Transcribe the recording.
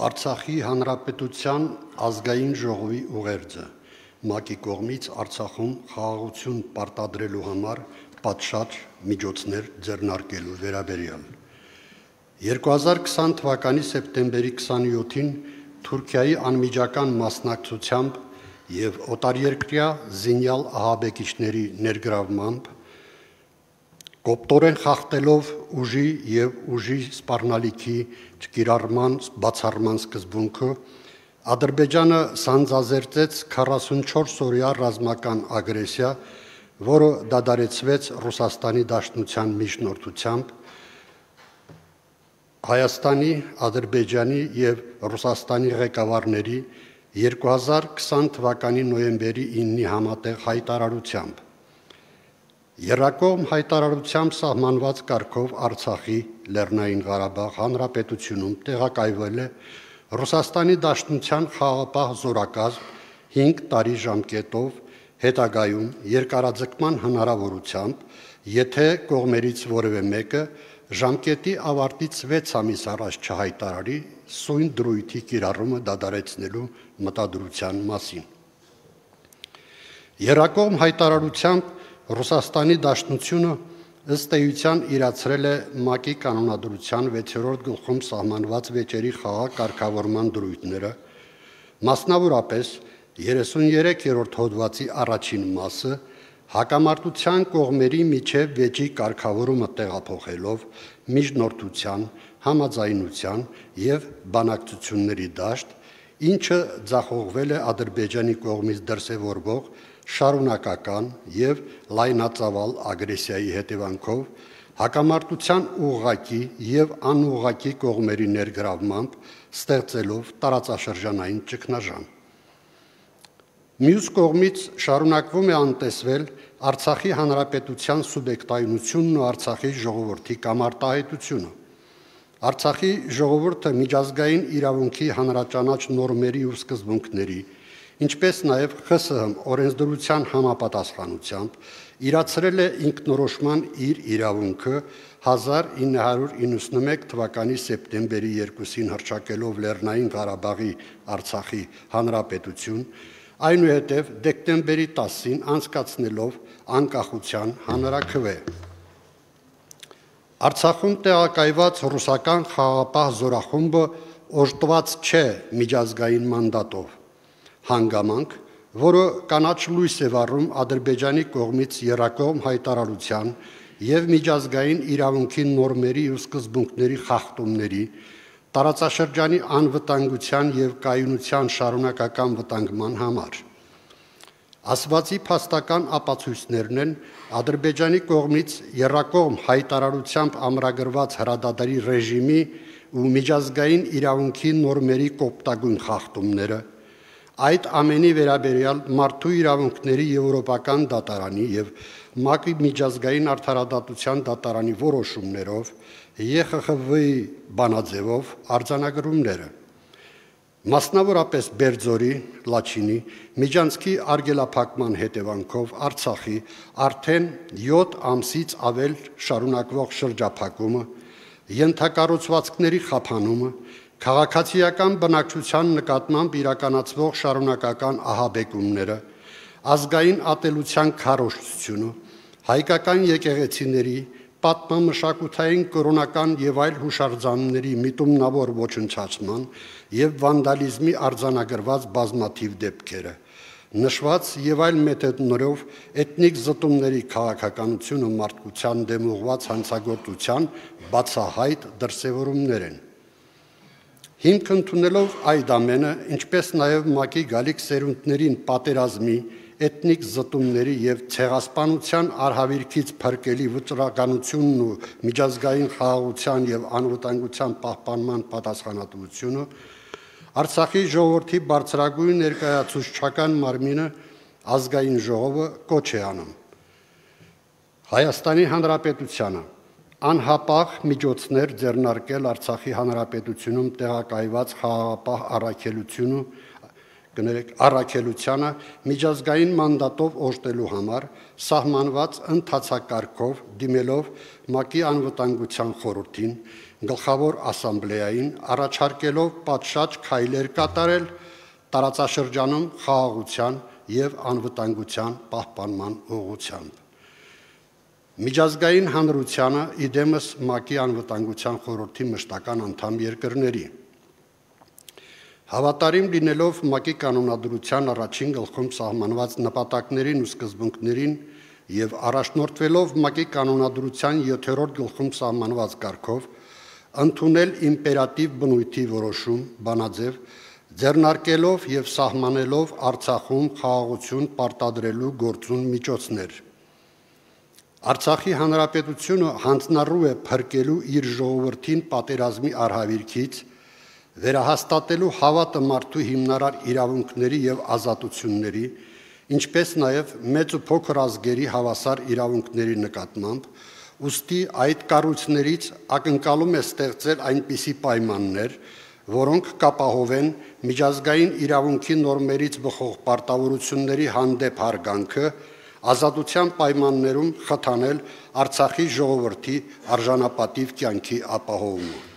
Արցախի Հանրապետության ազգային ժողովի ուղերձը ՄԱԿ-ի կողմից Արցախում խաղաղություն պարտադրելու համար պատշաճ միջոցներ ձեռնարկելու վերաբերյալ։ 2020 թվականի սեպտեմբերի 27-ին Թուրքիայի անմիջական մասնակցությամբ եւ օտարերկրյա զինյալ ահաբեկիչների ներգրավմամբ կոպտորեն խախտելով ուժի եւ ուժի սպառնալիքի չկիրառման բացառման սկզբունքը Ադրբեջանը սանձազերծեց 44-օրյա ռազմական ագրեսիա, որը դադարեցվեց Ռուսաստանի Դաշնության միջնորդությամբ Հայաստանի, Ադրբեջանի եւ Ռուսաստանի ղեկավարների 2020 թվականի նոյեմբերի 9-ի համատեղ հայտարարությամբ Եռակողմ հայտարարությամբ սահմանված կարգով Արցախի Լեռնային Ղարաբաղ Հանրապետությունում տեղակայվել է Ռուսաստանի Դաշնության խաղաղապահ զորակազմ 5 տարի ժամկետով հետագայում երկարաձգման հնարավորությամբ, եթե կողմերից որևէ մեկը ժամկետի ավարտից 6 ամիս առաջ չհայտարարի սույն դրույթի կիրառումը դադարեցնելու մտադրության մասին։ Եռակողմ հայտարարությամբ Ռուսաստանի Դաշնությունը ըստ էության իրացրել է ՄԱԿ-ի կանոնադրության 6-րդ գլխում սահմանված վեճերի խաղաղ կարգավորման դրույթները, մասնավորապես 33-րդ հոդվածի առաջին մասը հակամարտության կողմերի միջև վեճի կարգավորումը տեղափոխելով միջնորդության, համաձայնության եւ բանակցությունների դաշտ, ինչը ձախողվել է Ադրբեջանի կողմից դրսևորվող շարունակական եւ լայնածավալ ագրեսիայի հետևանքով հակամարտության ուղղակի եւ անուղղակի կողմերի ներգրավմամբ ստեղծելով տարածաշրջանային ճգնաժամ։ Մյուս կողմից շարունակվում է անտեսվել Արցախի Հանրապետության սուբյեկտայնությունն ու Արցախի ժողովրդի կամարտահայտությունը։ Արցախի ժողովուրդը միջազգային իրավունքի հանրաճանաչ նորմերի ու սկզբունքների, ինչպես նաև ԽՍՀՄ օրենսդրության համապատասխանությամբ իրացրել է ինքնորոշման իր իրավունքը 1991 թվականի սեպտեմբերի 2-ին հռչակելով Լեռնային Ղարաբաղի Արցախի Հանրապետություն, այնուհետև դեկտեմբերի 10-ին անցկացնելով անկախության հանրաքվե։ Արցախում տեղակայված ռուսական խաղաղապահ զորախումբը օժտված չէ միջազգային մանդատով, հանգամանք, որը կանաչ լույս է վառում Ադրբեջանի կողմից եռակողմ հայտարարության եւ միջազգային իրավունքի նորմերի ու սկզբունքների խախտումների, տարածաշրջանի անվտանգության եւ կայունության շարունակական վտանգման համար։ Ասվածի փաստական ապացույցներն են Ադրբեջանի կողմից եռակողմ հայտարարությամբ ամրագրված հրադադարի ռեժիմի ու միջազգային իրավունքի նորմերի կոպտագույն խախտումները, այդ ամենի վերաբերյալ մարդու իրավունքների եվրոպական դատարանի եւ ՄԱԿ-ի միջազգային արդարադատության դատարանի որոշումներով ԵԽԽՎ-ի բանաձևով արձանագրումները, մասնավորապես Բերձորի, Լաչինի, Միջանցքի արգելափակման հետևանքով Արցախի արդեն 7 ամսից ավել շարունակվող շրջափակումը, ենթակառուցվածքների խափանումը, քաղաքացիական բնակչության նկատմամբ իրականացվող շարունակական ահաբեկումները, ազգային ատելության քարոզչությունը, հայկական եկեղեցիների, պատմամշակութային կրոնական եւ այլ հուշարձանների միտումնավոր ոչնչացման եւ վանդալիզմի արձանագրված բազմաթիվ դեպքերը, նշված եւ այլ մեթոդներով էթնիկ զտումների քաղաքականությունը մարդկության դեմ ուղղված հանցագործության բացահայտ դրսևորումներ են։ Հիմք ընդունելով այդ ամենը, ինչպես նաև ՄԱԿ-ի գալիք սերունդներին պատերազմի, էթնիկ զտումների եւ ցեղասպանության արհավիրքից փրկելի վճռականությունն ու միջազգային խաղաղության եւ անվտանգության պահպանման պատասխանատվությունը, Արցախի ժողովրդի բարձրագույն ներկայացուցչական մարմինը ազգային ժողովը կոչ է անում Հայաստանի Հանրապետությանը անհապաղ միջոցներ ձեռնարկել Արցախի Հանրապետությունում տեղակայված խաղաղապահ առաքելությանը միջազգային մանդատով օժտելու համար սահմանված ընթացակարգով դիմելով ՄԱԿ-ի անվտանգության խորհրդին Գլխավոր ասամբլեային, առաջարկելով պատշաճ քայլեր կատարել տարածաշրջանում խաղաղության և անվտանգության պահպանման ուղղությամբ։ Միջազգային հանրությանը իդեմս ՄԱԿ-ի անվտանգության խորհրդի մշտական անդամ երկրների։ Հավատարիմ լինելով ՄԱԿ-ի կանոնադրության առաջին գլխում սահմանված նպատակներին ու սկզբունքներին և առաջնորդվելով ՄԱԿ-ի կանոնադրության 7-րդ գլխում սահմանված կարգով, ընդունել իմպերատիվ բնույթի որոշում, բանաձև, ձեռնարկելով և սահմանելով Արցախում խաղաղություն պարտադրելու գործուն միջոցներ։ Արցախի Հանրապետությունը հանձնառու է փրկելու իր ժողովրդին պատերազմի արհավիրքից, վերահաստատելու հավատը մարդու հիմնարար իրավունքների և ազատությունների, ինչպես նաև մեծ ու փոքր ազգերի հավասար իրավունքների նկատմամբ, ուստի այդ կառույցներից ակնկալում է ստեղծել այնպիսի պայմաններ, որոնք կապահովեն միջազգային իրավունքի նորմերից բխող պարտավորությունների հանդեպ հարգանքը, ազատության պայմաններում խթանել Արցախի ժողովրդի արժանապատիվ կյանքի ապահովումը։